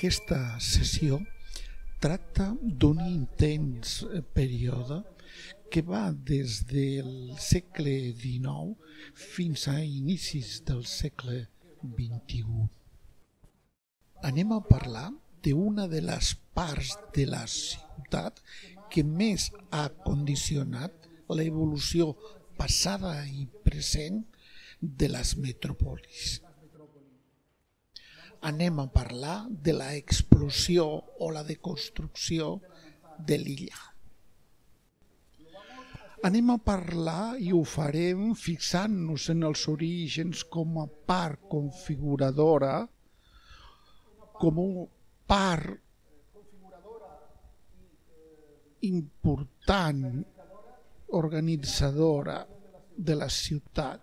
Aquesta sessió tracta d'un intens període que va des del segle XIX fins a inicis del segle XXI. Anem a parlar d'una de les parts de la ciutat que més ha condicionat l'evolució passada i present de les metròpolis. Anem a parlar de l'explosió o la deconstrucció de l'illa. Anem a parlar, i ho farem fixant-nos en els orígens com a part configuradora, com una part important, organitzadora de la ciutat.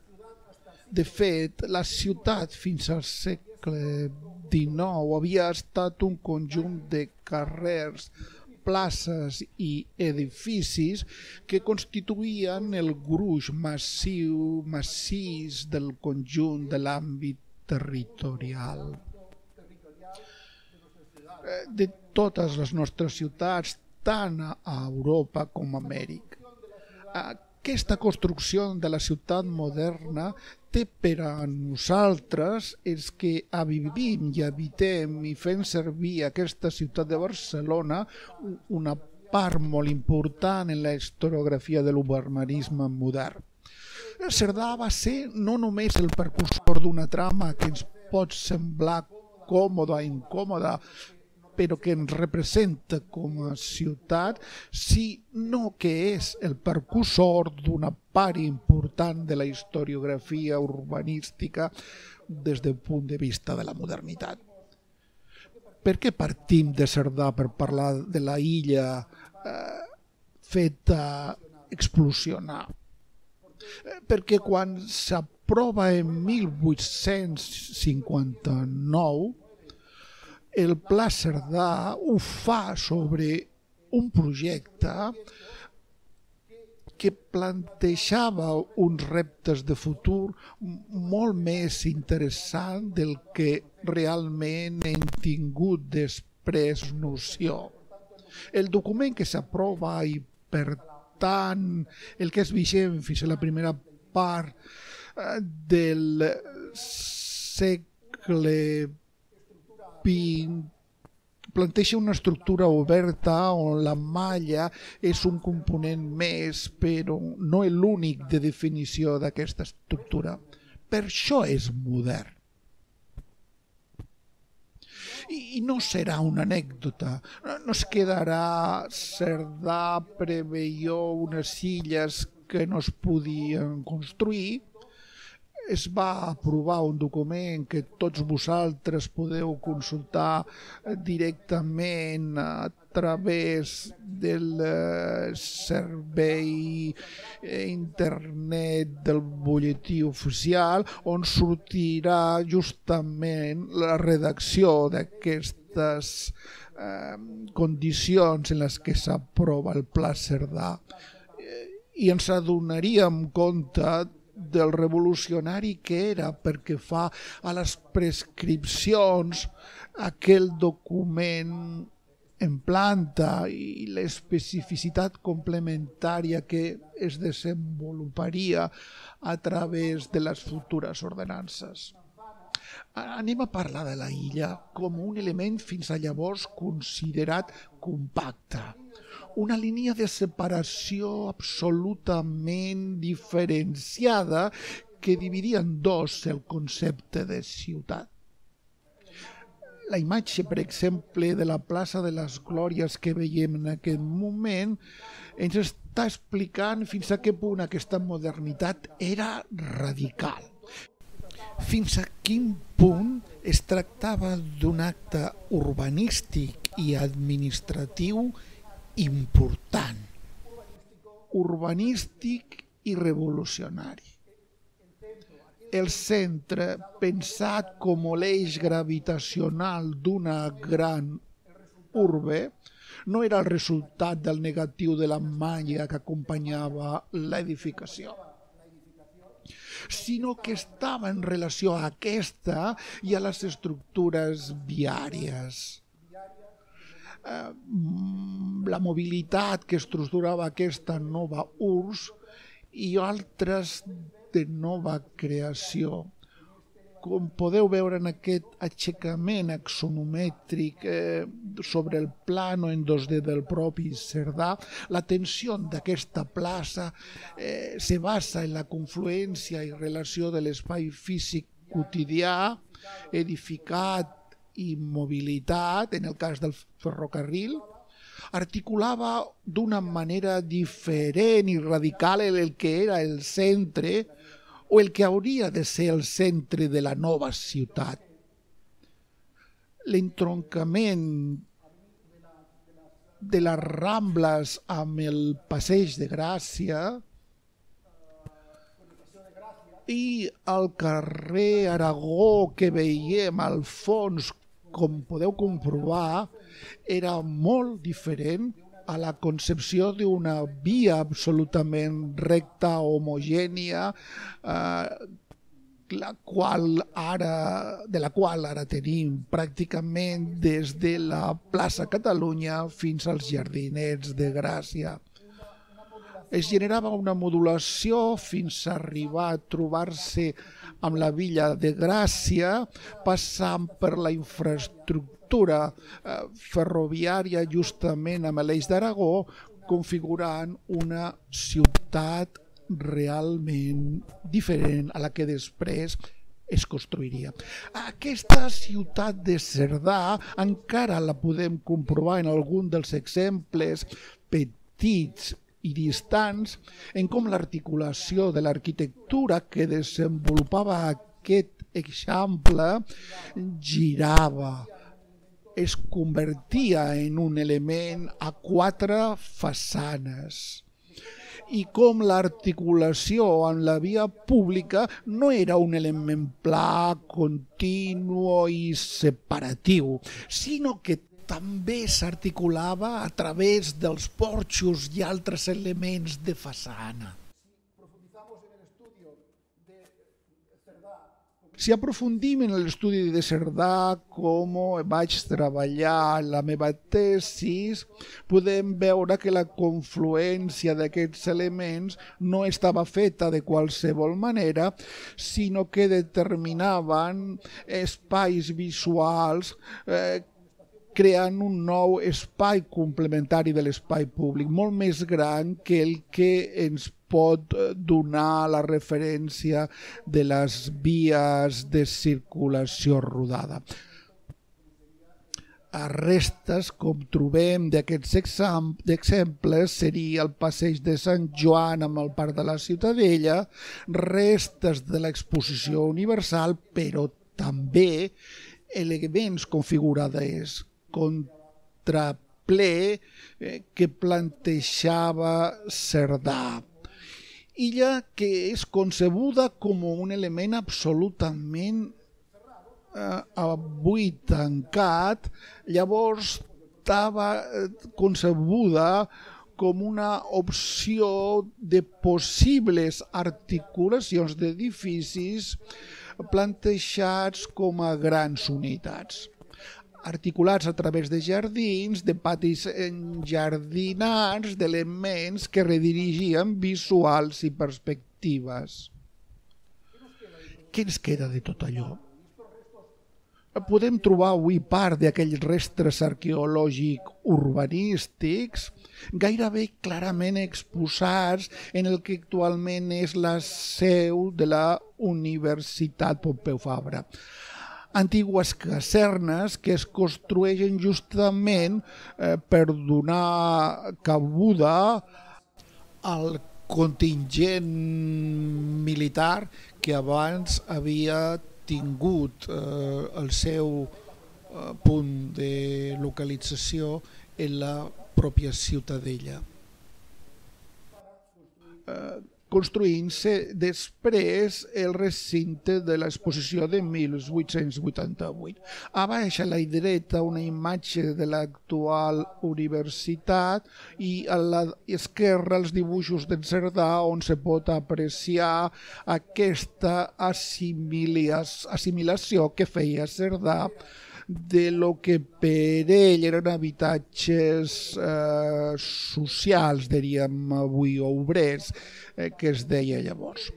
De fet, la ciutat fins al segle XIX havia estat un conjunt de carrers, places i edificis que constituïen el gruix massís del conjunt de l'àmbit territorial. De totes les nostres ciutats, tant a Europa com a Amèrica. Aquesta construcció de la ciutat moderna té per a nosaltres, els que vivim i habitem i fem servir aquesta ciutat de Barcelona, una part molt important en la historiografia de l'urbanisme modern. Cerdà va ser no només el precursor d'una trama que ens pot semblar còmoda o incòmoda, però que ens representa com a ciutat, sinó que és el precursor d'una part important de la historiografia urbanística des del punt de vista de la modernitat. Per què partim de Cerdà per parlar de la illa feta explosionar? Perquè quan s'aprova en 1859, el Pla Cerdà ho fa sobre un projecte que plantejava uns reptes de futur molt més interessants del que realment hem tingut després noció. El document que s'aprova i, per tant, el que és vigent fins a la primera part del segle planteja una estructura oberta on la malla és un component més, però no l'únic de definició d'aquesta estructura. Per això és modern. I no serà una anècdota, no es quedarà Cerdà preveió unes illes que no es podien construir. Es va aprovar un document que tots vosaltres podeu consultar directament a través del servei internet del butlletí oficial, on sortirà justament la redacció d'aquestes condicions en les que s'aprova el Pla Cerdà. I ens adonaríem compte del revolucionari que era perquè fa a les prescripcions aquell document en planta i l'especificitat complementària que es desenvoluparia a través de les futures ordenances. Anem a parlar de la illa com un element fins a llavors considerat compacte. Una línia de separació absolutament diferenciada que dividia en dos el concepte de ciutat. La imatge, per exemple, de la plaça de les Glòries que veiem en aquest moment ens està explicant fins a què punt aquesta modernitat era radical. Fins a quin punt es tractava d'un acte urbanístic i administratiu important, urbanístic i revolucionari. El centre, pensat com l'eix gravitacional d'una gran urbe, no era el resultat del negatiu de la malla que acompanyava l'edificació, sinó que estava en relació a aquesta i a les estructures viàries. la mobilitat que estructurava aquesta nova URSS i altres de nova creació. Com podeu veure en aquest aixecament axonomètric sobre el plano en 2D del propi Cerdà, la tensió d'aquesta plaça se basa en la confluència i relació de l'espai físic quotidià, edificat i mobilitat, en el cas del ferrocarril, articulava d'una manera diferent i radical el que era el centre o el que hauria de ser el centre de la nova ciutat. L'entroncament de les Rambles amb el Passeig de Gràcia i el carrer Aragó que veiem al fons, com podeu comprovar, era molt diferent a la concepció d'una via absolutament recta, homogènia, de la qual ara tenim pràcticament des de la plaça Catalunya fins als Jardinets de Gràcia. Es generava una modulació fins a arribar a trobar-se amb la Villa de Gràcia, passant per la infraestructura ferroviària justament amb l'Eix d'Aragó, configurant una ciutat realment diferent a la que després es construiria. Aquesta ciutat de Cerdà encara la podem comprovar en algun dels exemples petits i distants en com l'articulació de l'arquitectura que desenvolupava aquest eixample girava, es convertia en un element a quatre façanes i com l'articulació amb la via pública no era un element pla, continu i separatiu, sinó que també s'articulava a través dels porxos i altres elements de façana. Si aprofundim en l'estudi de Cerdà, com vaig treballar en la meva tesi, podem veure que la confluència d'aquests elements no estava feta de qualsevol manera, sinó que determinaven espais visuals creant un nou espai complementari de l'espai públic, molt més gran que el que ens pot donar la referència de les vies de circulació rodada. A restes, com trobem d'aquests exemples, seria el Passeig de Sant Joan amb el Parc de la Ciutadella, restes de l'exposició universal, però també elements configurats contraple que plantejava Cerdà. Illa que és concebuda com un element absolutament avui tancat, llavors estava concebuda com una opció de possibles articulacions d'edificis plantejats com a grans unitats, articulats a través de jardins, de patis enjardinats, d'elements que redirigien visuals i perspectives. Què ens queda de tot allò? Podem trobar avui part d'aquells restes arqueològics urbanístics gairebé clarament exposats en el que actualment és la seu de la Universitat Pompeu Fabra. Antigues casernes que es construeixen justament per donar cabuda al contingent militar que abans havia tingut el seu punt de localització en la pròpia ciutadella, construint-se després el recinte de l'exposició de 1888. A baix a la dreta una imatge de l'actual universitat i a l'esquerra els dibuixos d'en Cerdà on se pot apreciar aquesta assimilació que feia Cerdà de lo que per ell eren habitatges socials, diríem avui, o obrers, que es deia llavors.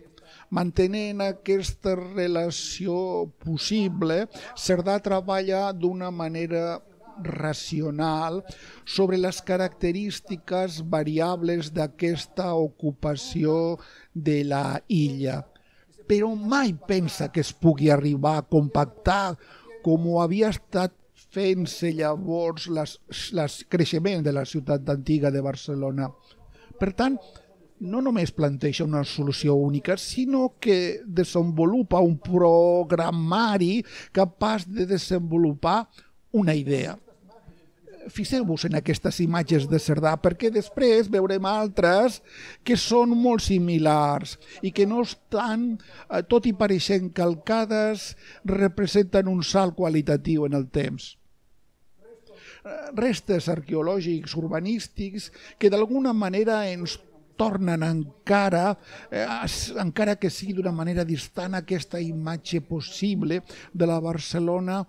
Mantenint aquesta relació possible, Cerdà treballa d'una manera racional sobre les característiques variables d'aquesta ocupació de la illa, però mai pensa que es pugui arribar a compactar com ho havia estat fent-se llavors el creixement de la ciutat antiga de Barcelona. Per tant, no només planteja una solució única, sinó que desenvolupa un programari capaç de desenvolupar una idea. Fixeu-vos en aquestes imatges de Cerdà, perquè després veurem altres que són molt similars i que no estan, tot i pareixent calcades, representen un salt qualitatiu en el temps. Restes arqueològics, urbanístics, que d'alguna manera ens tornen encara que sigui d'una manera distant, aquesta imatge possible de la Barcelona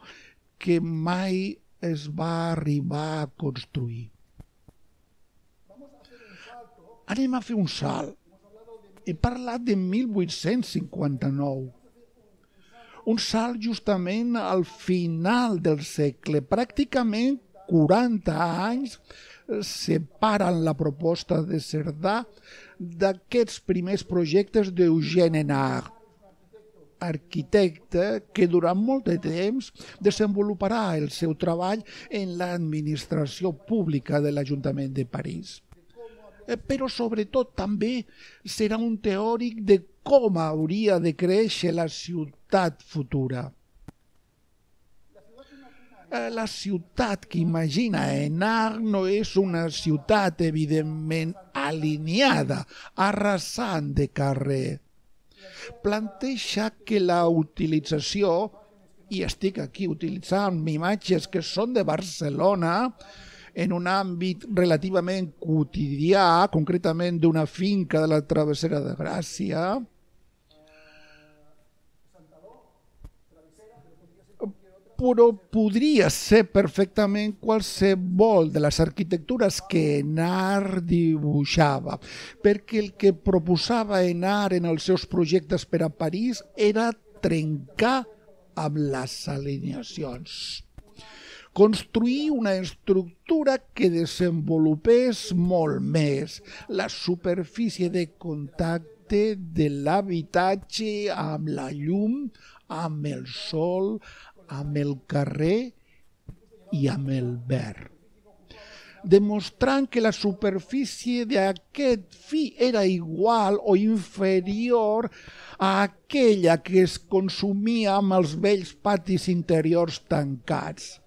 que mai es va arribar a construir. Anem a fer un salt. He parlat de 1859. Un salt justament al final del segle. Pràcticament 40 anys separen la proposta de Cerdà d'aquests primers projectes d'Eugène Hénard, arquitecte que durant molt de temps desenvoluparà el seu treball en l'administració pública de l'Ajuntament de París. Però sobretot també serà un teòric de com hauria de créixer la ciutat futura. La ciutat que imagina Hénard no és una ciutat evidentment alineada, arrasant de carrer. Planteja que la utilització, i estic aquí utilitzant imatges que són de Barcelona, en un àmbit relativament quotidià, concretament d'una finca de la Travessera de Gràcia, però podria ser perfectament qualsevol de les arquitectures que Hénard dibuixava, perquè el que proposava Hénard en els seus projectes per a París era trencar amb les alineacions. Construir una estructura que desenvolupés molt més la superfície de contacte de l'habitatge amb la llum, amb el sol, amb el carrer i amb el verd, demostrant que la superfície d'aquest fi era igual o inferior a aquella que es consumia amb els vells patis interiors tancats.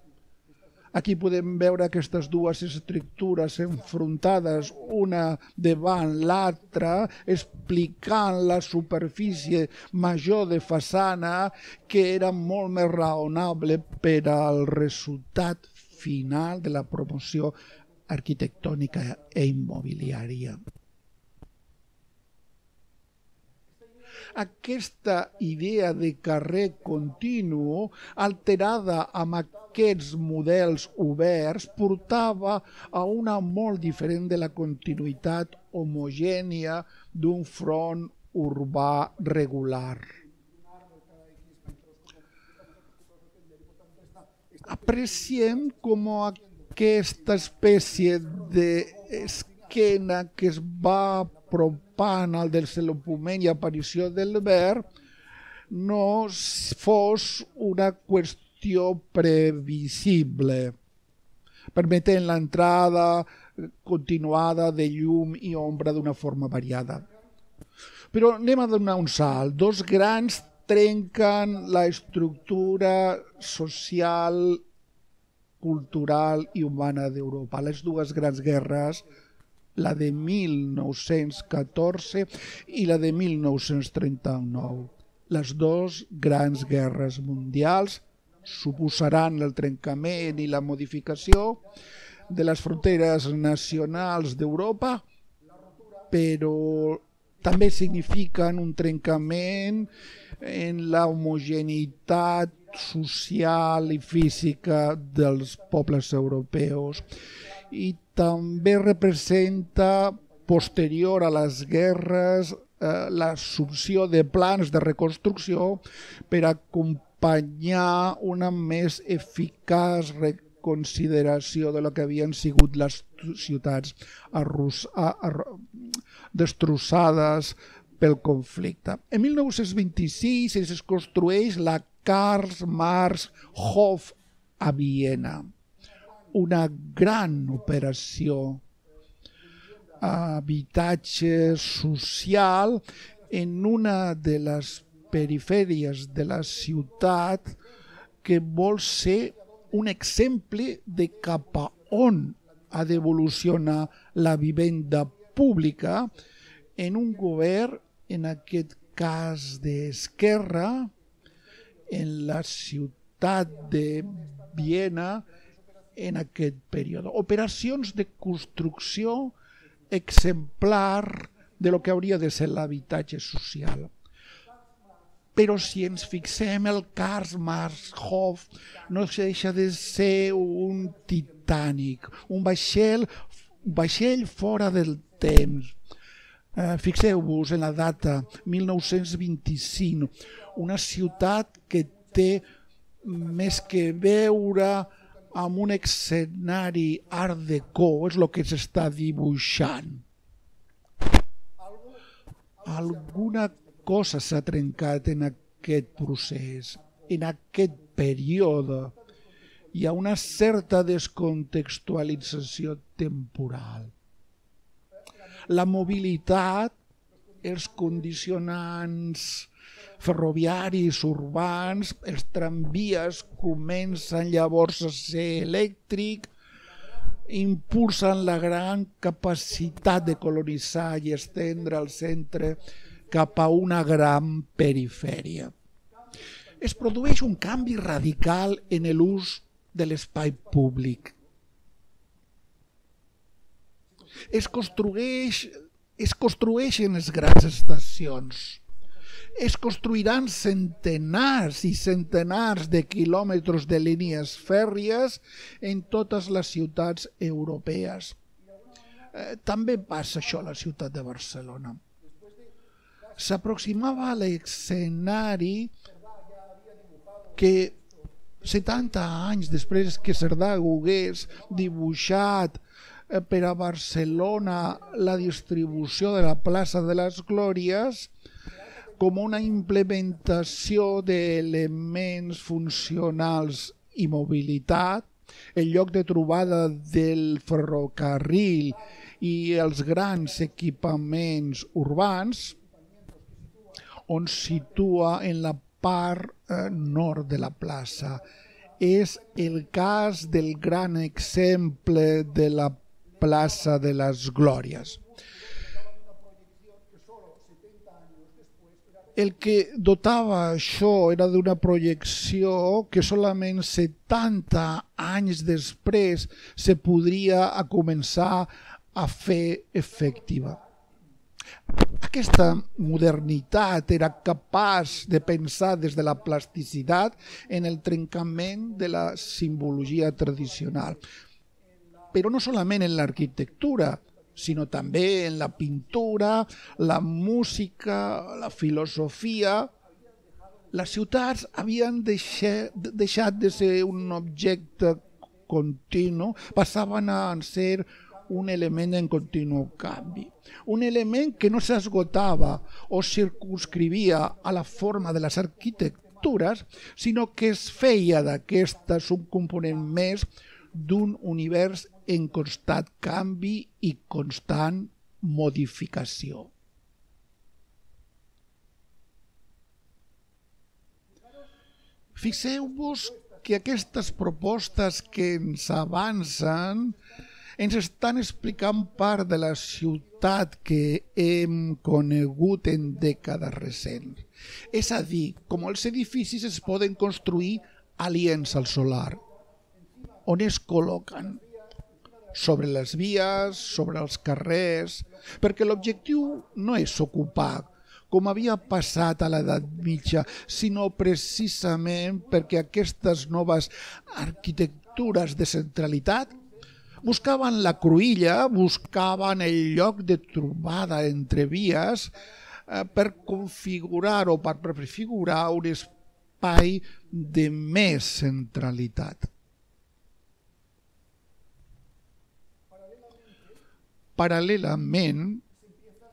Aquí podem veure aquestes dues estructures enfrontades una davant l'altra, explicant la superfície major de façana que era molt més raonable per al resultat final de la promoció arquitectònica i immobiliària. Aquesta idea de carrer continu, alterada amb aquests models oberts, portava a una molt diferent de la continuïtat homogènia d'un front urbà regular. Apreciem com aquesta espècie d'esquena que es va apropant al desenvolupament i aparició del verd no fos una qüestió previsible, permetent l'entrada continuada de llum i ombra d'una forma variada. Però anem a donar un salt. Dos grans trenquen la estructura social, cultural i humana d'Europa. Les dues grans guerres, la de 1914 i la de 1939. Les dues grans guerres mundials suposaran el trencament i la modificació de les fronteres nacionals d'Europa, però també signifiquen un trencament en la homogeneïtat social i física dels pobles europeus i també representa, posterior a les guerres, l'assumpció de plans de reconstrucció per acompanyar una més eficaç reconsideració de lo que havien sigut les ciutats destrossades pel conflicte. En 1926 es construeix la Karl-Marx-Hof a Viena, una gran operació habitatge social en una de les perifèries de la ciutat que vol ser un exemple de cap a on ha d'evolucionar la vivenda pública en un govern, en aquest cas d'esquerra, en la ciutat de Viena en aquest període. Operacions de construcció exemplar de lo que hauria de ser l'habitatge social. Però si ens fixem, el Karl-Marx-Hof no deixa de ser un Titanic, un vaixell fora del temps. Fixeu-vos en la data, 1925, una ciutat que té més que veure amb un escenari art déco, és el que s'està dibuixant. Alguna cosa s'ha trencat en aquest procés, en aquest període. Hi ha una certa descontextualització temporal. La mobilitat, els condicionants ferroviaris urbans, els tramvies comencen llavors a ser elèctrics, impulsen la gran capacitat de colonitzar i estendre el centre cap a una gran perifèria. Es produeix un canvi radical en l'ús de l'espai públic. Es construeixen les grans estacions. Es construiran centenars i centenars de quilòmetres de línies fèrries en totes les ciutats europees. També passa això a la ciutat de Barcelona. S'aproximava a l'escenari que 70 anys després que Cerdà hagués dibuixat per a Barcelona la distribució de la plaça de les Glòries com una implementació d'elements funcionals i mobilitat, el lloc de trobada del ferrocarril i els grans equipaments urbans, on situa en la part nord de la plaça. És el cas del gran exemple de la plaça de les Glòries. El que dotava això era d'una projecció que solament 70 anys després se podria començar a fer efectiva. Aquesta modernitat era capaç de pensar des de la plasticitat en el trencament de la simbologia tradicional, però no solament en l'arquitectura, sinó també en la pintura, la música, la filosofia. Les ciutats havien deixat de ser un objecte continu, passaven a ser un element en continu canvi. Un element que no s'esgotava o circunscrivia a la forma de les arquitectures, sinó que es feia d'aquestes un component més d'un univers en constant canvi i constant modificació. Fixeu-vos que aquestes propostes que ens avancen ens estan explicant part de la ciutat que hem conegut en dècades recents. És a dir, com els edificis es poden construir aliens al solar, on es col·loquen sobre les vies, sobre els carrers, perquè l'objectiu no és ocupar, com havia passat a l'edat mitja, sinó precisament perquè aquestes noves arquitectures de centralitat buscaven la cruïlla, buscaven el lloc de trobada entre vies per configurar o per prefigurar un espai de més centralitat. Paral·lelament,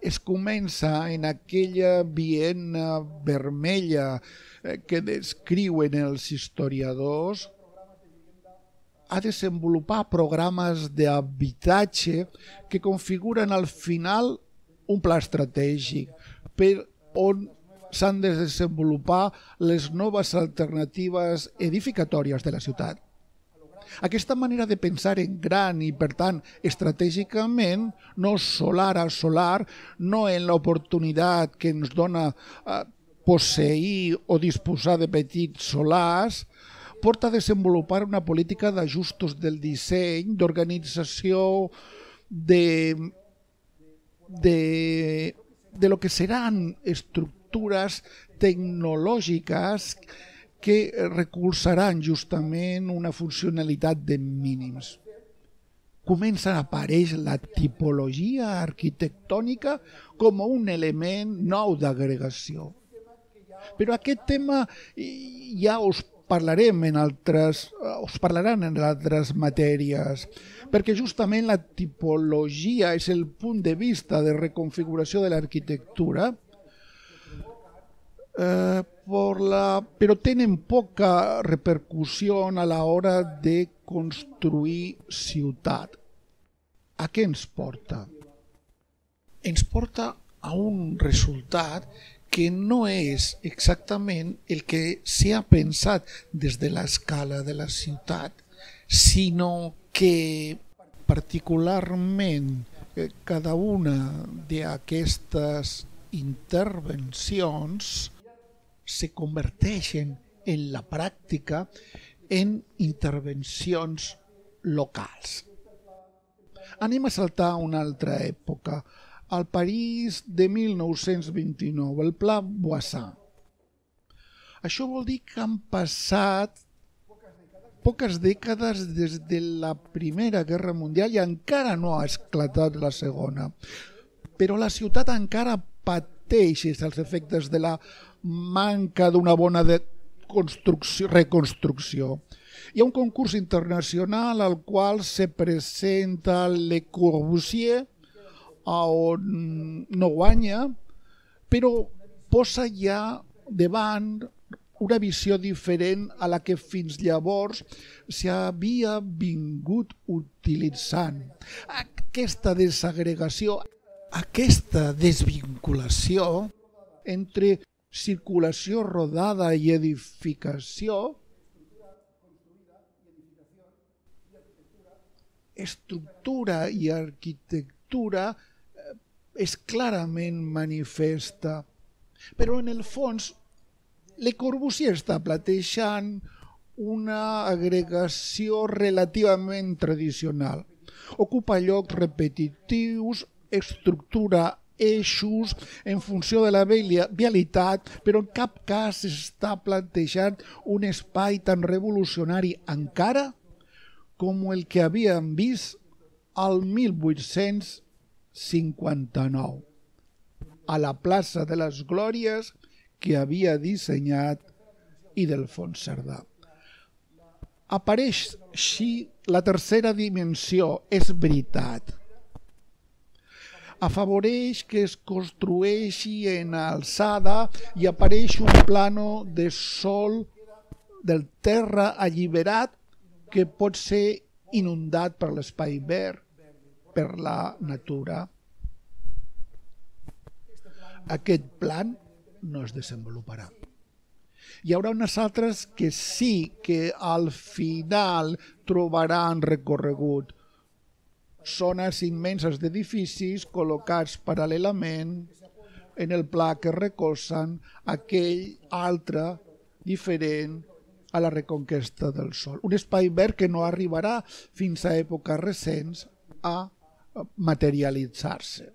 es comença en aquella Viena vermella que descriuen els historiadors a desenvolupar programes d'habitatge que configuren al final un pla estratègic per on s'han de desenvolupar les noves alternatives edificatòries de la ciutat. Aquesta manera de pensar en gran i, per tant, estratègicament, no solar a solar, no en l'oportunitat que ens dona posseir o disposar de petits solars, porta a desenvolupar una política d'ajustos del disseny, d'organització de lo que seran estructures tecnològiques que recolzaran justament una funcionalitat de mínims. Comença a aparèixer la tipologia arquitectònica com un element nou d'agregació. Però aquest tema ja us parlaran en altres matèries, perquè justament la tipologia és el punt de vista de reconfiguració de l'arquitectura, però tenen poca repercussió a l'hora de construir ciutat. A què ens porta? Ens porta a un resultat que no és exactament el que s'ha pensat des de l'escala de la ciutat, sinó que particularment cada una d'aquestes intervencions se converteixen en la pràctica en intervencions locals. Anem a saltar a una altra època, al París de 1929, el Pla Voisin. Això vol dir que han passat poques dècades des de la Primera Guerra Mundial i encara no ha esclatat la Segona. Però la ciutat encara pateix els efectes de la manca d'una bona reconstrucció. Hi ha un concurs internacional al qual se presenta Le Corbusier, on no guanya, però posa ja davant una visió diferent a la que fins llavors s'havia vingut utilitzant. Aquesta desagregació, aquesta desvinculació entre circulació rodada i edificació, estructura i arquitectura és clarament manifesta. Però en el fons, Le Corbusier està plantejant una agregació relativament tradicional. Ocupa llocs repetitius, estructura eixos en funció de la vialitat, però en cap cas està plantejant un espai tan revolucionari encara com el que havíem vist al 1859, a la plaça de les Glòries que havia dissenyat Ildefons Cerdà. Apareix així la tercera dimensió, és veritat. Afavoreix que es construeixi en alçada i apareix un plano de sòl del terra alliberat que pot ser inundat per l'espai verd, per la natura. Aquest plan no es desenvoluparà. Hi haurà unes altres que sí que al final trobaran recorregut. Zones immenses d'edificis col·locats paral·lelament en el pla que recolzen aquell altre diferent a la reconquesta del sol. Un espai verd que no arribarà fins a èpoques recents a materialitzar-se.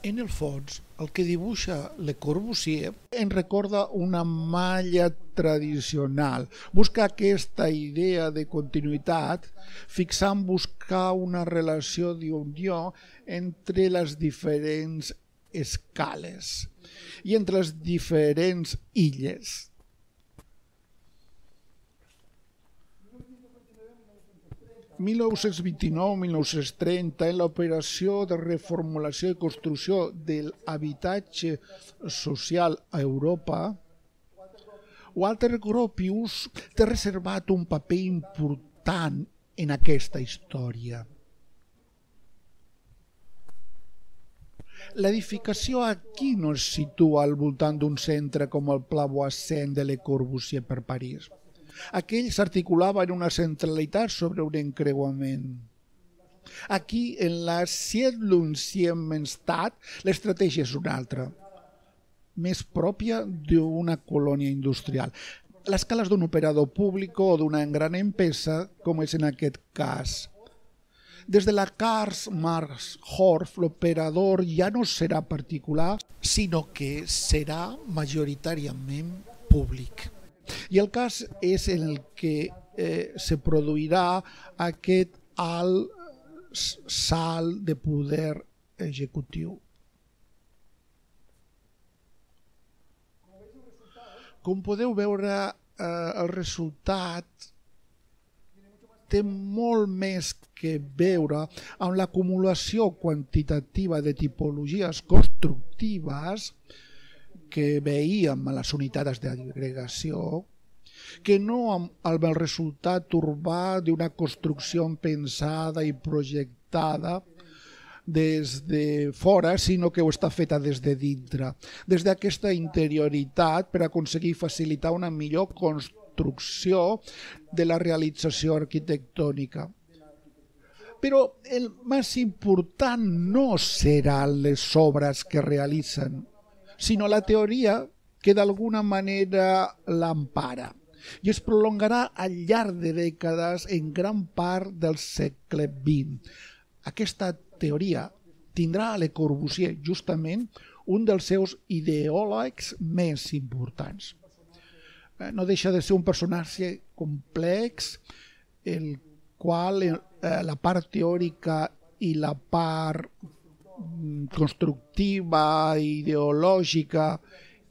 En el fons, el que dibuixa Le Corbusier en recorda una malla tradicional. Busca aquesta idea de continuïtat, fixant buscar una relació d'unió entre les diferents escales i entre les diferents illes. 1929-1930, en l'operació de reformulació i construcció de l'habitatge social a Europa, Walter Gropius té reservat un paper important en aquesta història. L'edificació aquí no es situa al voltant d'un centre com el Pla Boissent de Le Corbusier per París. Aquell s'articulava en una centralitat sobre un encreuament. Aquí, en la Siedlungsiedlungsstadt, l'estratègia és una altra, més pròpia d'una colònia industrial. L'escala és d'un operador públic o d'una gran empresa, com és en aquest cas. Des de la Karl Marx Horf, l'operador ja no serà particular, sinó que serà majoritàriament públic. I el cas és en el que se produirà aquest alt salt de poder executiu. Com podeu veure, el resultat té molt més que veure amb l'acumulació quantitativa de tipologies constructives que veiem a les unitats d'agregació, que no amb el resultat urbà d'una construcció pensada i projectada des de fora, sinó que ho està feta des de dintre, des d'aquesta interioritat per aconseguir facilitar una millor construcció de la realització arquitectònica. Però el més important no seran les obres que realitzen, sinó la teoria que d'alguna manera l'empara i es prolongarà al llarg de dècades en gran part del segle XX. Aquesta teoria tindrà a Le Corbusier justament un dels seus ideòlegs més importants. No deixa de ser un personatge complex, el qual la part teòrica i la part constructiva, ideològica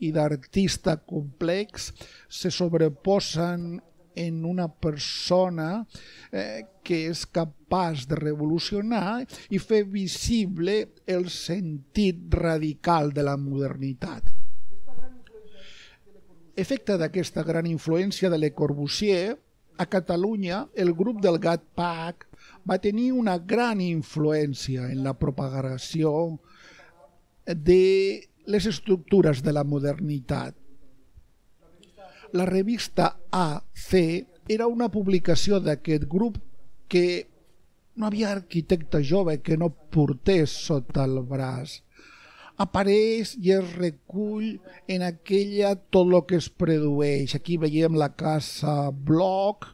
i d'artista complex se sobreposen en una persona que és capaç de revolucionar i fer visible el sentit radical de la modernitat. Efecte d'aquesta gran influència de Le Corbusier, a Catalunya el grup del Gat Pack va tenir una gran influència en la propagació de les estructures de la modernitat. La revista AC era una publicació d'aquest grup que no havia arquitecte jove que no portés sota el braç. Apareix i es recull en aquella tot el que es produeix. Aquí veiem la casa Bloch,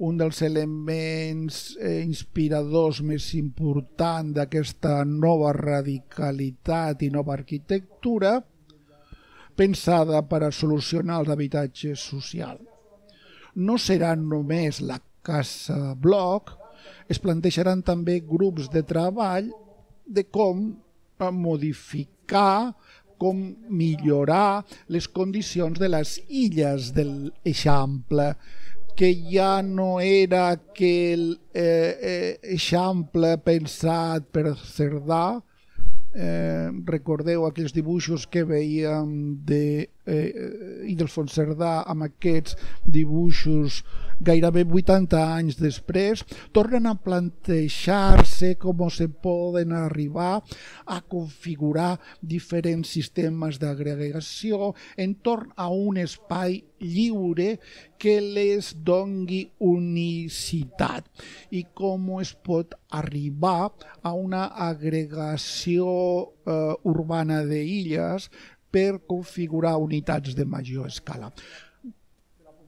un dels elements inspiradors més importants d'aquesta nova radicalitat i nova arquitectura, pensada per a solucionar els habitatges socials. No serà només la casa Bloch, es plantejaran també grups de treball de com modificar, com millorar les condicions de les illes de l'Eixample, que ja no era aquell Eixample pensat per Cerdà. Recordeu aquells dibuixos que veiem d'Ildefons Cerdà amb aquests dibuixos gairebé 80 anys després, tornen a plantejar-se com se poden arribar a configurar diferents sistemes d'agregació entorn a un espai lliure que les doni unicitat i com es pot arribar a una agregació urbana d'illes per configurar unitats de major escala.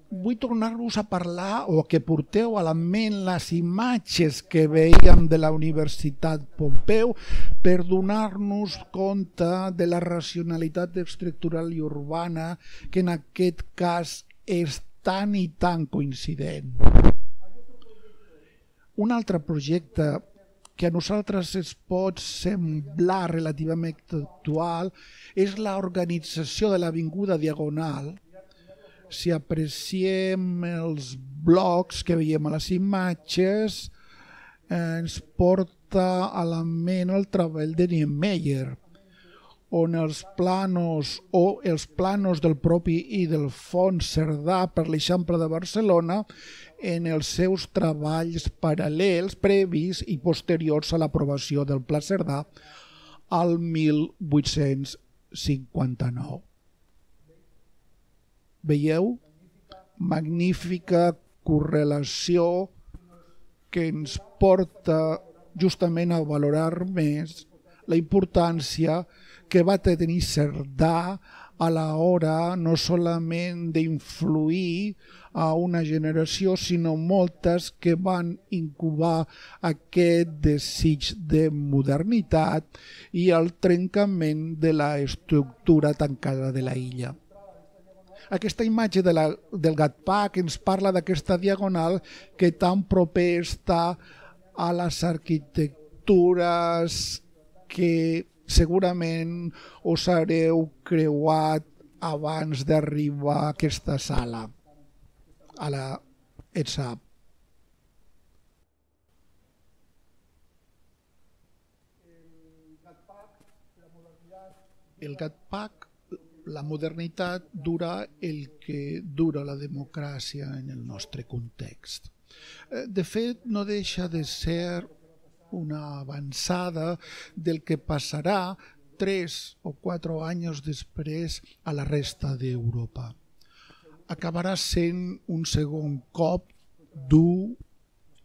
vull tornar-vos a parlar o que porteu a la ment les imatges que veiem de la Universitat Pompeu per donar-nos compte de la racionalitat estructural i urbana que en aquest cas és tan i tan coincident. Un altre projecte que a nosaltres es pot semblar relativament actual és l'organització de l'Avinguda Diagonal. Si apreciem els blocs que veiem a les imatges, ens porta a la ment el treball de Niemeyer, on els planos del propi i del Fons Cerdà per l'Eixample de Barcelona en els seus treballs paral·lels, previs i posteriors a l'aprovació del Pla Cerdà al 1859. Veieu? Magnífica correlació que ens porta justament a valorar més la importància que va tenir Cerdà a l'hora no solament d'influir a una generació, sinó moltes que van incubar aquest desig de modernitat i el trencament de l'estructura tancada de la illa. Aquesta imatge del Gatcpac ens parla d'aquesta diagonal que tan proper està a les arquitectures que segurament us haureu creuat abans d'arribar a aquesta sala, a la ETSAP. El Gatcpac, la modernitat, dura el que dura la democràcia en el nostre context. De fet, no deixa de ser una avançada del que passarà 3 o 4 anys després a la resta d'Europa. Acabarà sent un segon cop dur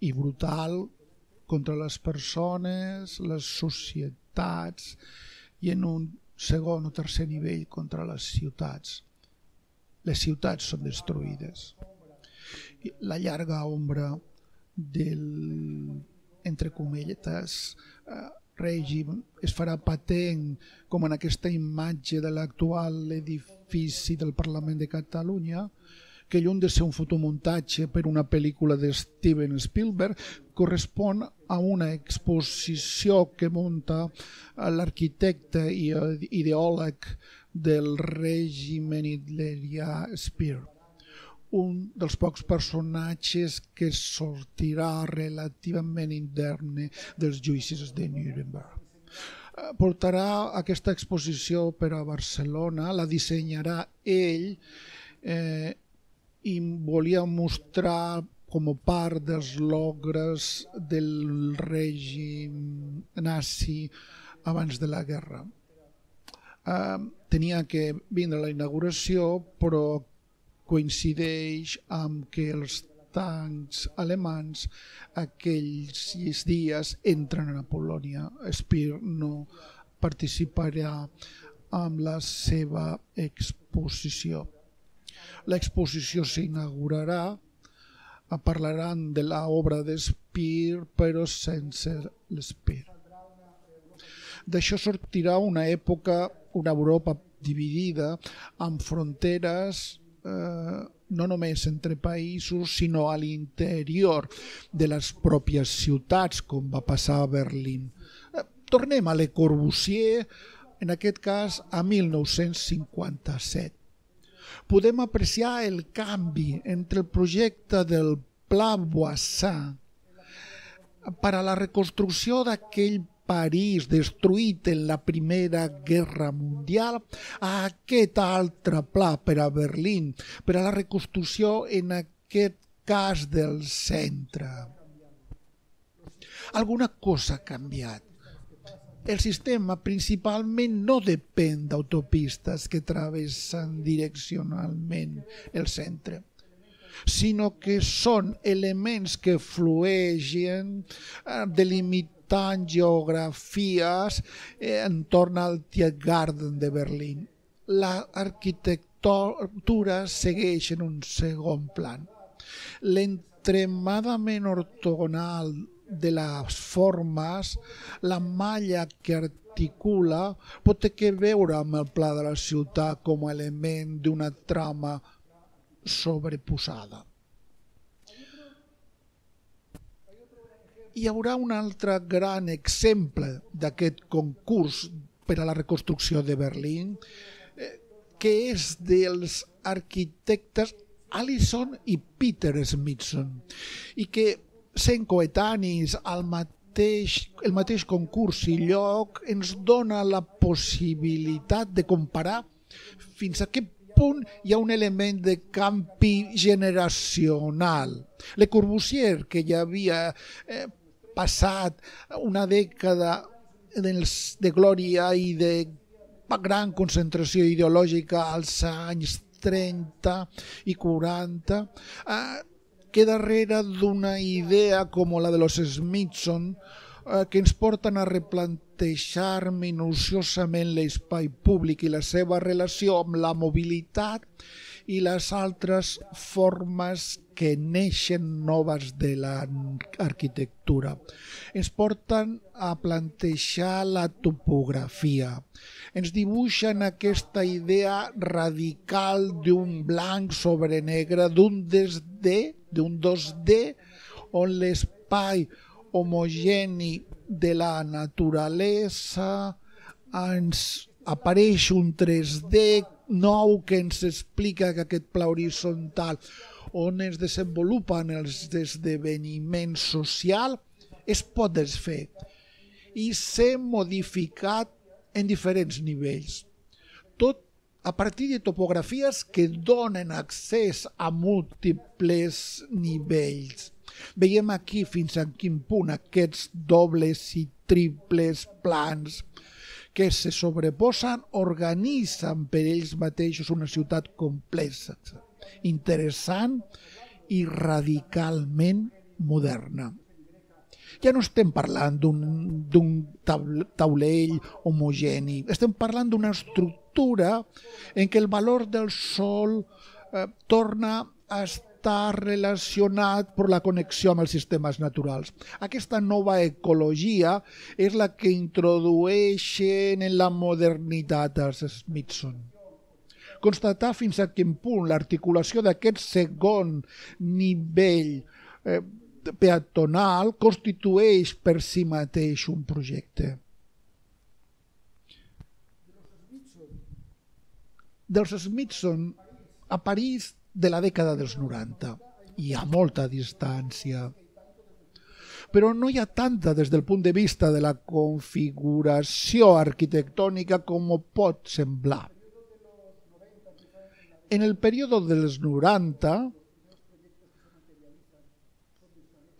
i brutal contra les persones, les societats i en un segon o tercer nivell contra les ciutats. Les ciutats són destruïdes. La llarga ombra del, entre cometes, règim es farà patent com en aquesta imatge de l'actual edifici del Parlament de Catalunya, que lluny de ser un fotomuntatge per una pel·lícula de Steven Spielberg, correspon a una exposició que munta l'arquitecte i ideòleg del règim hitlerià Speer, un dels pocs personatges que sortirà relativament indemne dels judicis de Nuremberg. Portarà aquesta exposició per a Barcelona, la dissenyarà ell, i volia mostrar com a part dels logres del règim nazi abans de la guerra. Tenia que vindre a la inauguració, però coincideix amb que els tancs alemans aquells dies entren a Polònia. Speer no participarà amb la seva exposició. L'exposició s'inaugurarà, parlaran de l'obra de Speer, però sense l'Speer. D'això sortirà una època, una Europa dividida, amb fronteres no només entre països, sinó a l'interior de les pròpies ciutats, com va passar a Berlín. Tornem a Le Corbusier, en aquest cas a 1957. Podem apreciar el canvi entre el projecte del Pla Voisin per a la reconstrucció d'aquell París destruït en la Primera Guerra Mundial a aquest altre pla per a Berlín, per a la reconstrucció en aquest cas del centre. Alguna cosa ha canviat. El sistema principalment no depèn d'autopistes que travessen direccionalment el centre, sinó que són elements que flueixen delimitant geografies entorn al Tiergarten de Berlín. L'arquitectura l'arquitectura segueix en un segon plan. L'extremadament ortogonal de les formes, la malla que articula, pot tenir que veure amb el pla de la ciutat com a element d'una trama sobreposada. Hi haurà un altre gran exemple d'aquest concurs per a la reconstrucció de Berlín, que és dels arquitectes Allison i Peter Smithson, i que sent coetanis el mateix concurs i lloc ens dona la possibilitat de comparar fins a què punt hi ha un element de canvi generacional. Le Corbusier, que ja havia passat una dècada de glòria i de gran concentració ideològica als anys 30 i 40, que darrere d'una idea com la de los Smithson, que ens porten a replantejar minuciosament l'espai públic i la seva relació amb la mobilitat i les altres formes que neixen noves de l'arquitectura. Ens porten a plantejar la topografia. Ens dibuixen aquesta idea radical d'un blanc sobre negre, d'un 2D, on l'espai homogeni de la naturalesa ens apareix un 3D nou que ens explica que aquest pla horitzontal on es desenvolupen els esdeveniments socials es pot desfer i ser modificat en diferents nivells. Tot a partir de topografies que donen accés a múltiples nivells. Veiem aquí fins a quin punt aquests dobles i triples plans que se sobreposen organitzen per ells mateixos una ciutat complexa, interessant i radicalment moderna. Ja no estem parlant d'un taulell homogeni, estem parlant d'una estructura en què el valor del sol torna a estar relacionat per la connexió amb els sistemes naturals. Aquesta nova ecologia és la que introdueixen en la modernitat els Smithson. Constatar fins a quin punt l'articulació d'aquest segon nivell peatonal constitueix per si mateix un projecte. Dels Smithson a París de la dècada dels 90. Hi ha molta distància. Però no hi ha tanta des del punt de vista de la configuració arquitectònica com pot semblar. En el període dels 90,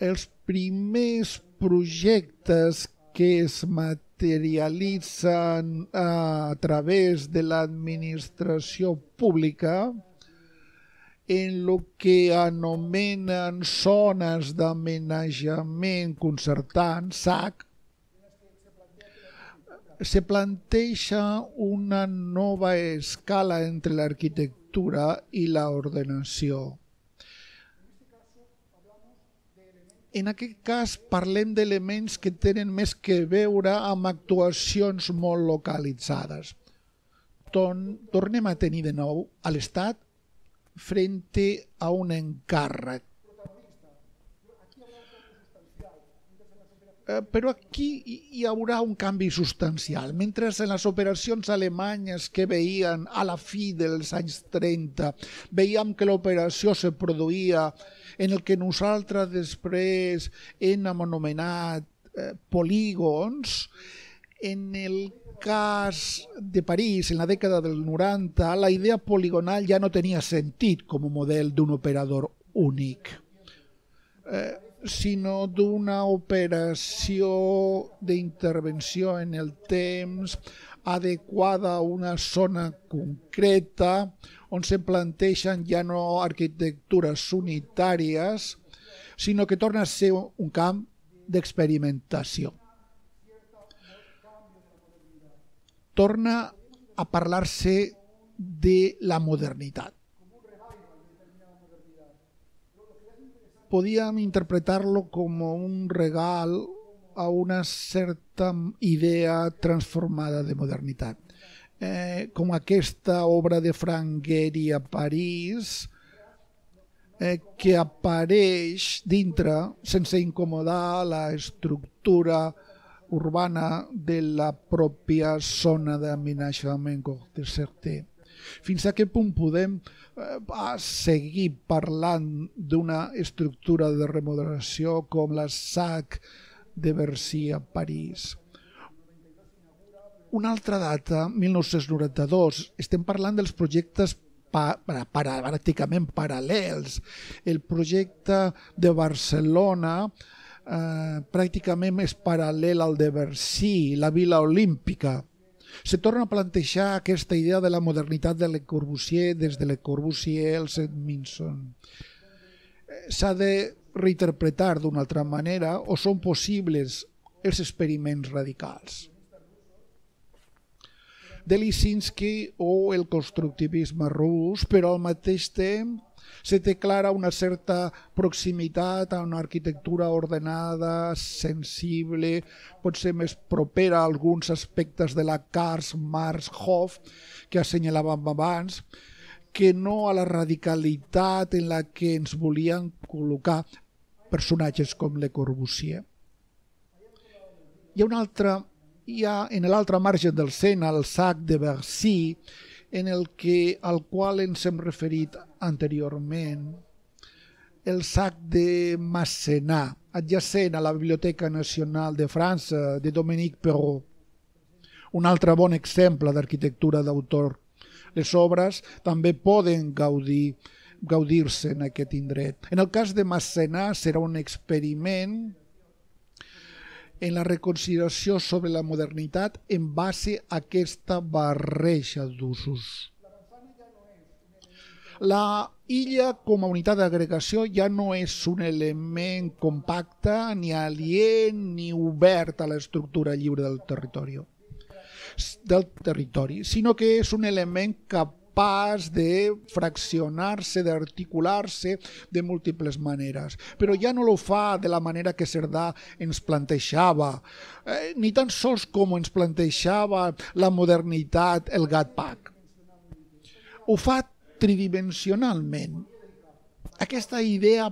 els primers projectes que es materialitzen a través de l'administració pública en el que anomenen zones d'amenatjament concertant, ZAC, se planteja una nova escala entre l'arquitectura i l'ordenació. En aquest cas parlem d'elements que tenen més que veure amb actuacions molt localitzades. Tornem a tenir de nou a l'Estat frente a un encàrrec. Però aquí hi haurà un canvi substancial. Mentre en les operacions alemanyes que veien a la fi dels anys 30, veiem que l'operació se produïa en el que nosaltres després hem anomenat polígons, en el cas de París, en la dècada del 90, la idea poligonal ja no tenia sentit com a model d'un operador únic, sinó d'una operació d'intervenció en el temps adequada a una zona concreta on se planteixen ja no arquitectures unitàries, sinó que torna a ser un camp d'experimentació. Torna a parlar-se de la modernitat. Podíem interpretar-lo com un regal a una certa idea transformada de modernitat. Com aquesta obra de Frank Gehry a París, que apareix dintre, sense incomodar la estructura urbana de la pròpia zona d'aménagement de Certé. Fins a quin punt podem seguir parlant d'una estructura de remodelació com la SAC de Bercy a París? Una altra data, 1992, estem parlant dels projectes pràcticament paral·lels. El projecte de Barcelona pràcticament és paral·lel al de Bercy, la Vila Olímpica. Se torna a plantejar aquesta idea de la modernitat de Le Corbusier des de Le Corbusier al Edmondson. S'ha de reinterpretar d'una altra manera o són possibles els experiments radicals de Lisinski o el constructivisme rus, però al mateix temps se té clara una certa proximitat a una arquitectura ordenada, sensible, potser més propera a alguns aspectes de la Karl Marx Hof que assenyalàvem abans, que no a la radicalitat en la que ens volien col·locar personatges com Le Corbusier. Hi ha en l'altre marge del Sena el SAC de Bercy, al qual ens hem referit anteriorment, el SAC de Massenat, adjacent a la Biblioteca Nacional de França, de Dominique Perrault. Un altre bon exemple d'arquitectura d'autor. Les obres també poden gaudir-se en aquest indret. En el cas de Massenat serà un experiment en la reconsideració sobre la modernitat en base a aquesta barreja d'usos. La illa com a unitat d'agregació ja no és un element compacte, ni aliè, ni obert a l'estructura lliure del territori, sinó que és un element capaç de fraccionar-se, d'articular-se de múltiples maneres. Però ja no ho fa de la manera que Cerdà ens plantejava, ni tan sols com ens plantejava la modernitat, el Gatpack. Ho fa tridimensionalment. Aquesta idea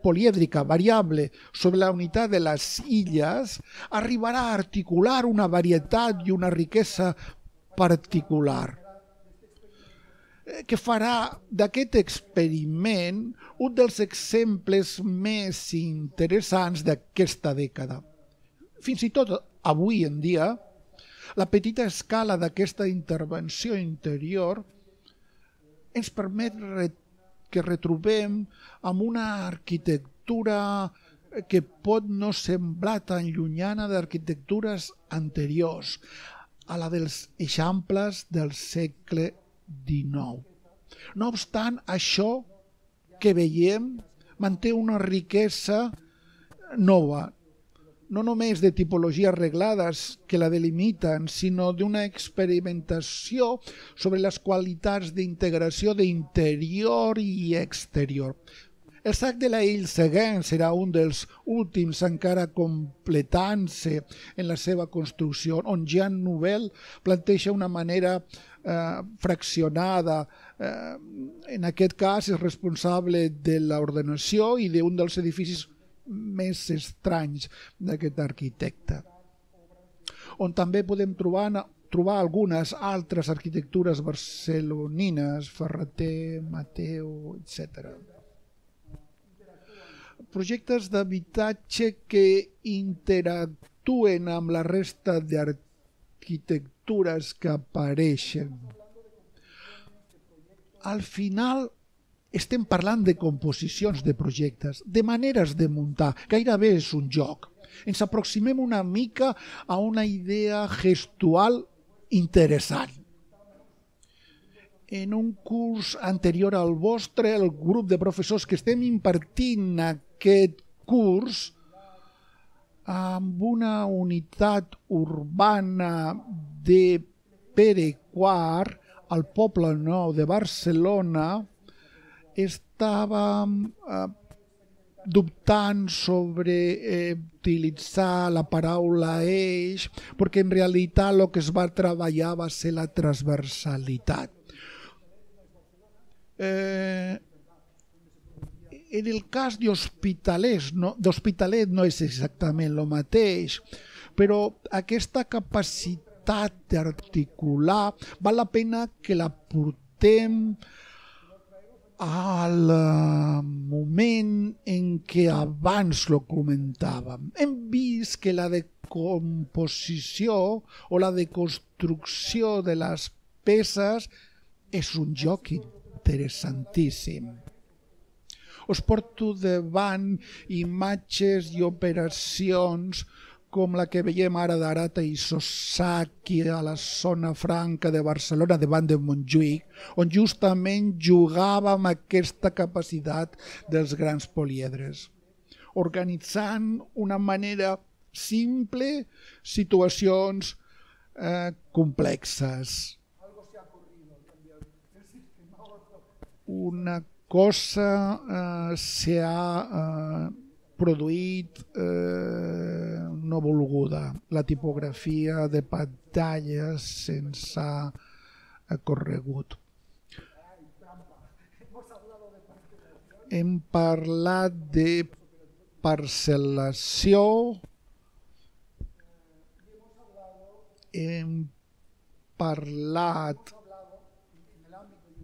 polièdrica, variable, sobre la unitat de les illes, arribarà a articular una varietat i una riquesa particular, que farà d'aquest experiment un dels exemples més interessants d'aquesta dècada. Fins i tot avui en dia, la petita escala d'aquesta intervenció interior ens permet que retrobem amb una arquitectura que pot no semblar tan llunyana d'arquitectures anteriors, a la dels eixamples del segle XIX. No obstant, això que veiem manté una riquesa nova, no només de tipologies reglades que la delimiten, sinó d'una experimentació sobre les qualitats d'integració d'interior i exterior. El SAC de la Ile-Seguin serà un dels últims encara completant-se en la seva construcció, on Jean Nouvel planteja una manera fraccionada. En aquest cas és responsable de l'ordenació i d'un dels edificis més estranys d'aquest arquitecte, on també podem trobar algunes altres arquitectures barcelonines, Ferrater, Mateu, etc. Projectes d'habitatge que interactuen amb la resta d'arquitectures que apareixen. Al final estem parlant de composicions de projectes, de maneres de muntar, gairebé és un joc. Ens aproximem una mica a una idea gestual interessant. En un curs anterior al vostre, el grup de professors que estem impartint aquest curs amb una unitat urbana de Pere IV al Poble Nou de Barcelona estava dubtant sobre utilitzar la paraula eix, perquè en realitat el que es va treballar va ser la transversalitat. En el cas d'Hospitalet no és exactament el mateix, però aquesta capacitat d'articular val la pena que la portem al moment en què abans lo comentàvem. Hem vist que la decomposició o la deconstrucció de les peces és un joc interessantíssim. Us porto davant imatges i operacions com la que veiem ara d'Arata i Sosaki a la zona franca de Barcelona, davant de Montjuïc, on justament jugàvem aquesta capacitat dels grans poliedres, organitzant una manera simple situacions complexes. Una cosa s'ha produït no volguda. La tipografia de pantalles se'ns ha corregut. Hem parlat de parcel·lació, hem parlat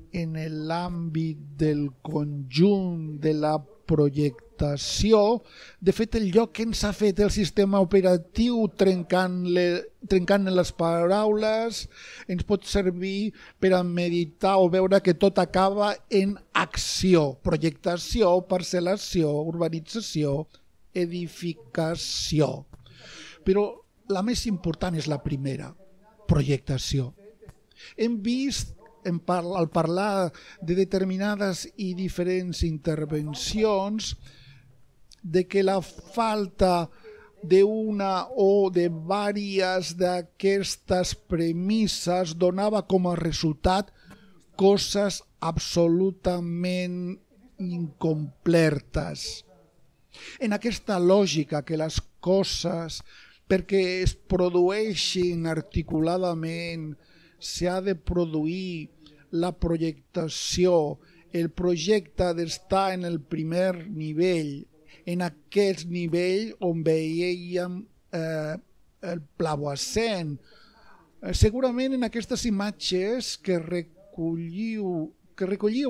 en l'àmbit del conjunt de la projectació. De fet, el lloc que ens ha fet el sistema operatiu trencant les paraules ens pot servir per a meditar o veure que tot acaba en acció, projectació, parcel·lació, urbanització, edificació. Però la més important és la primera, projectació. Hem vist al parlar de determinades i diferents intervencions de que la falta d'una o de diverses d'aquestes premisses donava com a resultat coses absolutament incompletes. En aquesta lògica que les coses, perquè es produeixin articuladament, s'ha de produir la projectació, el projecte ha d'estar en el primer nivell, en aquest nivell on veiem el plavoascent. Segurament en aquestes imatges que recolliu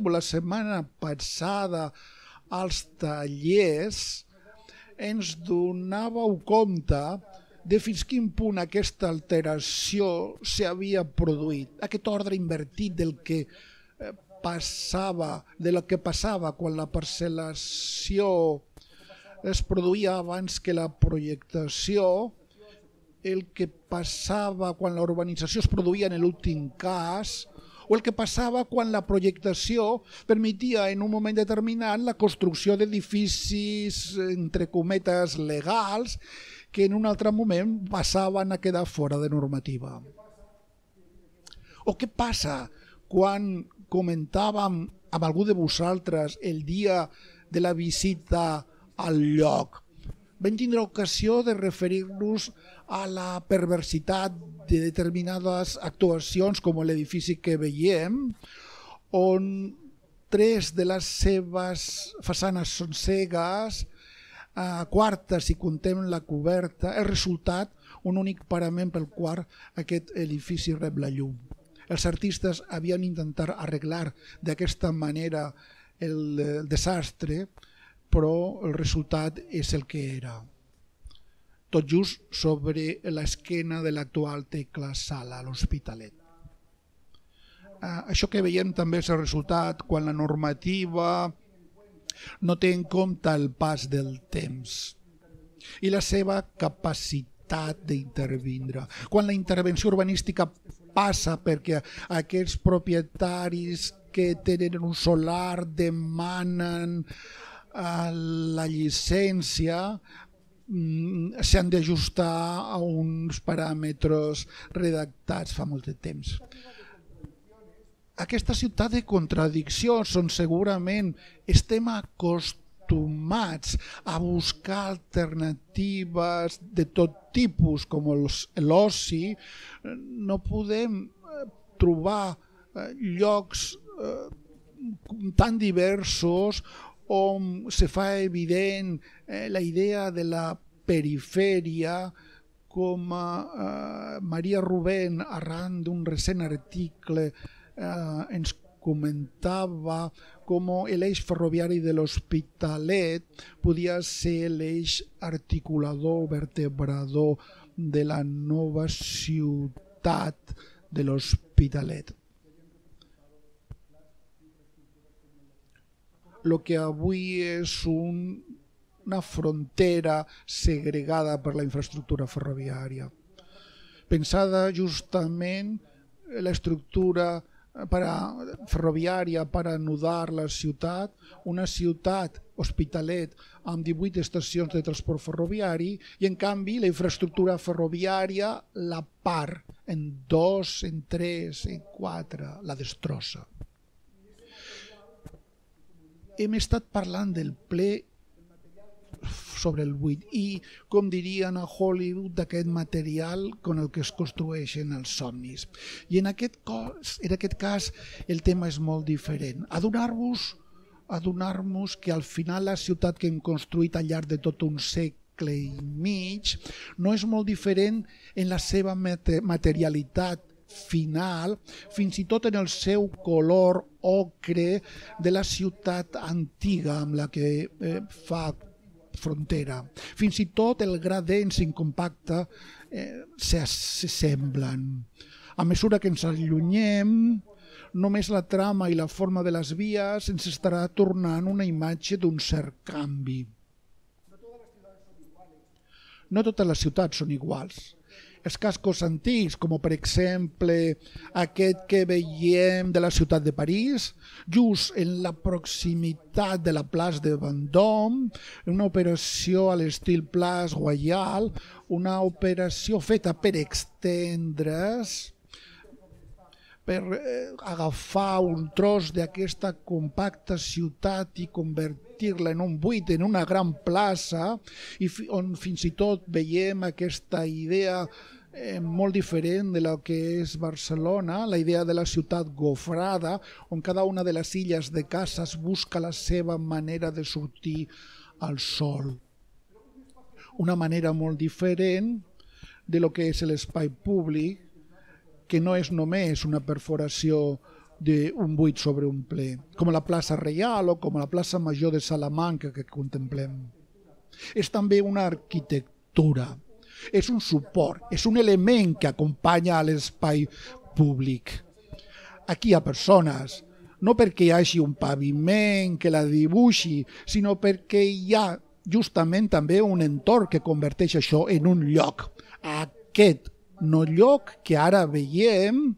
la setmana passada als tallers, ens donàveu compte de fins quin punt aquesta alteració s'havia produït, aquest ordre invertit del que passava quan la parcel·lació es produïa abans que la projectació, el que passava quan la urbanització es produïa en l'últim cas, o el que passava quan la projectació permetia en un moment determinat la construcció d'edificis, entre cometes, legals, que en un altre moment passaven a quedar fora de normativa. O què passa quan comentàvem amb algú de vosaltres el dia de la visita al lloc? Vam tindre ocasió de referir-nos a la perversitat de determinades actuacions com l'edifici que veiem, on 3 de les seves façanes són cegues, quarta, si contem la coberta, el resultat, un únic parament pel qual aquest edifici rep la llum. Els artistes havien intentat arreglar d'aquesta manera el desastre, però el resultat és el que era. Tot just sobre l'esquena de l'actual Tecla Sala, a l'Hospitalet. Això que veiem també és el resultat quan la normativa no té en compte el pas del temps i la seva capacitat d'intervindre. Quan la intervenció urbanística passa perquè aquests propietaris que tenen un solar demanen la llicència, s'han d'ajustar a uns paràmetres redactats fa molt de temps. aquesta ciutat de contradiccions on segurament estem acostumats a buscar alternatives de tot tipus com l'oci, no podem trobar llocs tan diversos on se fa evident la idea de la perifèria, com Maria Rubén, arran d'un recent article, ens comentava com l'eix ferroviari de l'Hospitalet podia ser l'eix articulador, vertebrador de la nova ciutat de l'Hospitalet. El que avui és una frontera segregada per la infraestructura ferroviària. Pensada justament l'estructura ferroviària per anudar la ciutat, una ciutat, Hospitalet, amb 18 estacions de transport ferroviari, i en canvi la infraestructura ferroviària la part en 2, en 3, en 4, la destrossa. Hem estat parlant del ple sobre el buit i, com dirien a Hollywood, d'aquest material con el que es construeixen els somnis. I en aquest cas el tema és molt diferent. Adonar-nos que al final la ciutat que hem construït al llarg de tot un segle i mig no és molt diferent en la seva materialitat final, fins i tot en el seu color ocre de la ciutat antiga amb la que fa frontera. Fins i tot el gra dens i compacte s'assemblen. A mesura que ens allunyem, només la trama i la forma de les vies ens estarà tornant una imatge d'un cert canvi. No totes les ciutats són iguals. Els cascos antics, com per exemple aquest que veiem de la ciutat de París, just en la proximitat de la plaça de Vendôme, una operació a l'estil Place Royal, una operació feta per extendre's, per agafar un tros d'aquesta compacta ciutat i convertir-la en un buit, en una gran plaça, on fins i tot veiem aquesta idea molt diferent de la que és Barcelona, la idea de la ciutat gofrada, on cada una de les illes de cases busca la seva manera de sortir al sol. Una manera molt diferent de lo que és l'espai públic, que no és només una perforació d'un buit sobre un ple, com la plaça Reial o com la plaça Major de Salamanca que contemplem. És també una arquitectura, és un suport, és un element que acompanya a l'espai públic. Aquí hi ha persones, no perquè hi hagi un paviment que la dibuixi, sinó perquè hi ha justament també un entorn que converteix això en un lloc. Aquest no lloc que ara veiem,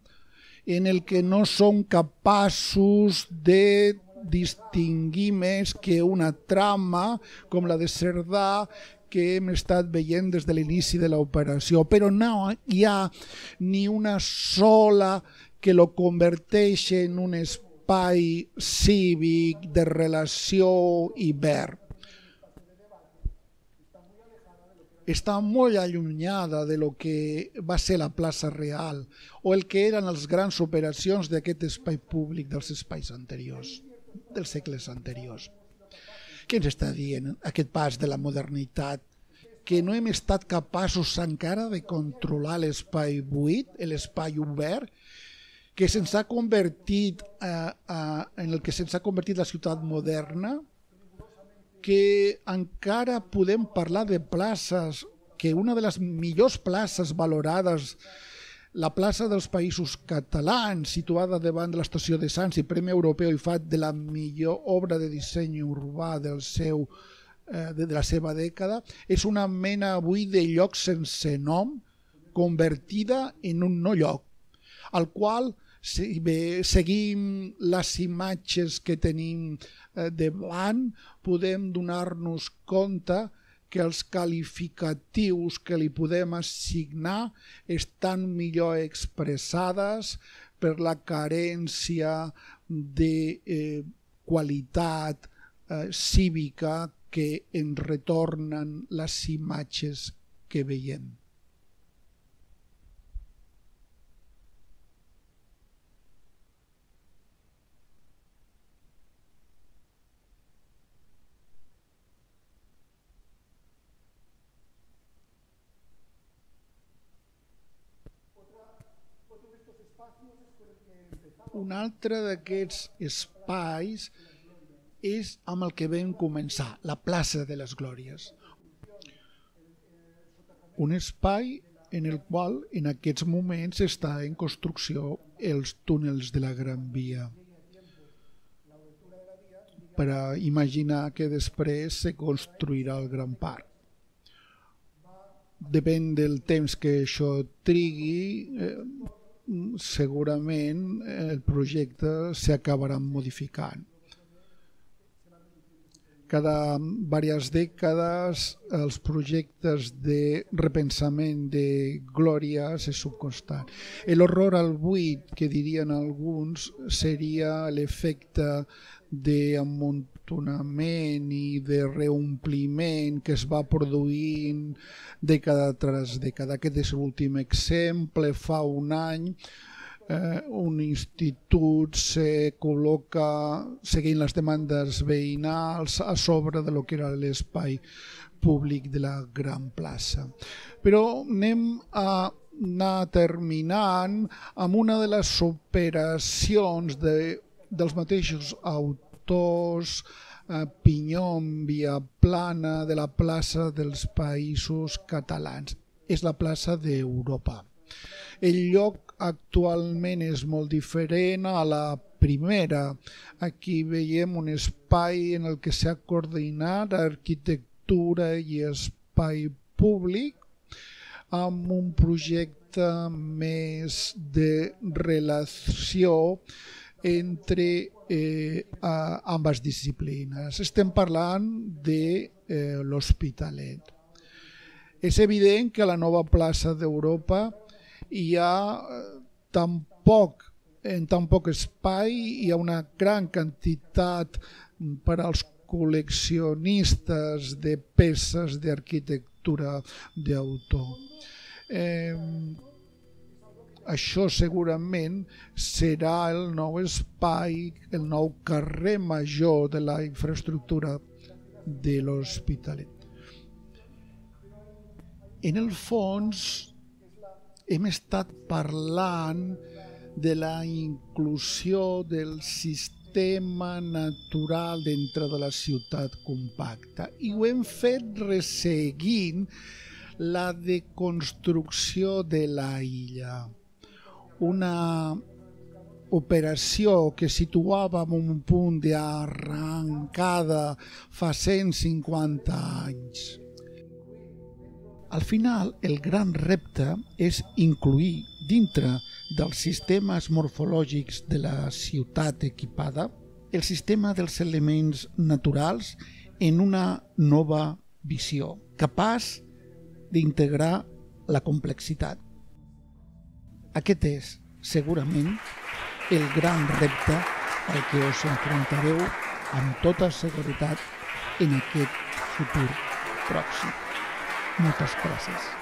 en el que no som capaços de distingir més que una trama com la de Cerdà que hem estat veient des de l'inici de l'operació, però no hi ha ni una sola que lo converteix en un espai cívic de relació i verd. Està molt allunyada de lo que va ser la plaça Real o el que eren les grans operacions d'aquest espai públic dels espais anteriors, dels segles anteriors. Què ens està dient aquest pas de la modernitat? Que no hem estat capaços encara de controlar l'espai buit, l'espai obert, que se'ns ha convertit en el que se'ns ha convertit la ciutat moderna, que encara podem parlar de places, que una de les millors places valorades, la plaça dels Països Catalans, situada davant de l'estació de Sants i Premi Europeu i FAT de la millor obra de disseny urbà de la seva dècada, és una mena avui de lloc sense nom, convertida en un no lloc, al qual si seguim les imatges que tenim davant, podem donar-nos compte que els qualificatius que li podem assignar estan millor expressades per la carència de qualitat cívica que ens retornen les imatges que veiem. Un altre d'aquests espais és amb el que vam començar, la plaça de les Glòries. Un espai en el qual en aquests moments està en construcció els túnels de la Gran Via. Per a imaginar que després se construirà el Gran Parc. Depèn del temps que això trigui, segurament el projecte s'acabarà modificant. Cada diverses dècades els projectes de repensament de glòria se subconstant. L'horror al buit, que dirien alguns, seria l'efecte d'amuntonament i de reompliment que es va produint dècada tras dècada. Aquest és l'últim exemple. Fa un any un institut se col·loca, seguint les demandes veïnals, a sobre de lo que era l'espai públic de la gran plaça. Però anem a anar terminant amb una de les operacions dels mateixos autors, Pinyol, Viaplana, de la plaça dels Països Catalans. És la plaça d'Europa. El lloc actualment és molt diferent a la primera. Aquí veiem un espai en el que s'ha coordinat arquitectura i espai públic amb un projecte més de relació entre ambes disciplines. Estem parlant de l'Hospitalet. És evident que a la nova plaça d'Europa hi ha en tan poc espai, hi ha una gran quantitat per als col·leccionistes de peces d'arquitectura d'autor. Això segurament serà el nou espai, el nou carrer major de la infraestructura de l'Hospitalet. En el fons, hem estat parlant de la inclusió del sistema natural dintre de la ciutat compacta i ho hem fet resseguint la deconstrucció de la illa. Una operació que situava en un punt d'arrencada fa 150 anys. Al final, el gran repte és incluir dintre dels sistemes morfològics de la ciutat equipada el sistema dels elements naturals en una nova visió, capaç d'integrar la complexitat. Aquest és, segurament, el gran repte al que us enfrontareu amb tota seguretat en aquest futur pròxim. Moltes gràcies.